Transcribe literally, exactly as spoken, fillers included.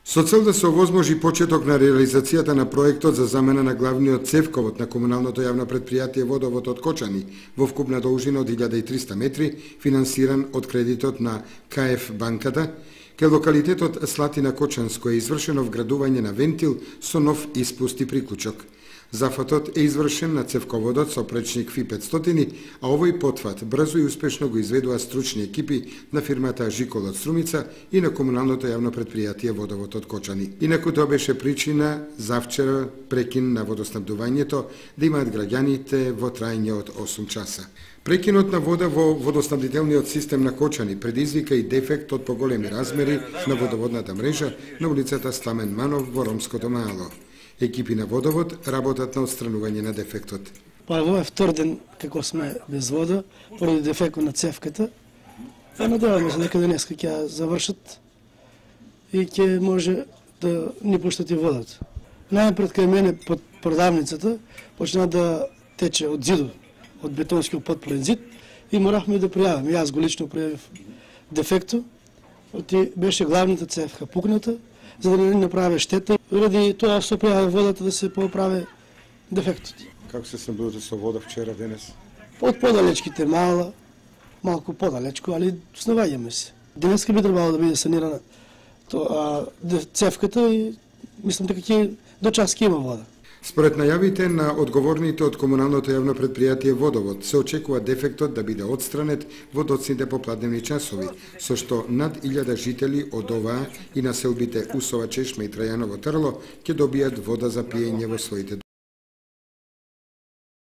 Со цел да се овозможи почеток на реализацијата на проектот за замена на главниот цевковод на комуналното јавно предпријатие Водовод од Кочани во вкупна должина од илјада и триста метри, финансиран од кредитот на Ка Еф банката, кај локалитетот Слатина Кочанско е извршено вградување на вентил со нов испуст и приклучок. Зафатот е извршен на цевководот со пречник Фи петстотини, а овој потфат брзо и успешно го изведува стручни екипи на фирмата Жикол од Струмица и на комуналното јавно предпријатие Водовод од Кочани. Инаку тоа беше причина за вчера прекин на водоснабдувањето да имаат граѓаните во трајање од осум часа. Прекинот на вода во водоснабдителниот систем на Кочани предизвика и дефект од поголеми размери на водоводната мрежа на улицата Сламен Манов во Ромското Мало. Екипи на Водовод работат на отстранување на дефектот. Па во втор ден како сме без вода поради дефектот на цевката. А надеваме се дека денеска ќе ја завршат и ќе може да ни пуштат и водата. Најпред кај мене под продавницата почна да тече од зидот, од бетонскиот потполен зид и морахме да пријавиме. Јас го лично пријавив дефектот, оти беше главната цевка пукната, за да не направи штета. Ради тоа се пријави водата да се поправи дефектот. Како се снабдувате со вода вчера, денес? Од подалечките мала, малку подалечко, али снаваѓаме се. Денеска би требало да биде санирана тоа цевката и мислам дека ќе до час ќе има вода. Според најавите на одговорните од комуналното јавно предпријатие Водовод, се очекува дефектот да биде отстранет во доцните попладневни часови, со што над илјада жители од оваа и населбите Усова, Чешма и Трајаново Трло ќе добијат вода за пиење во своите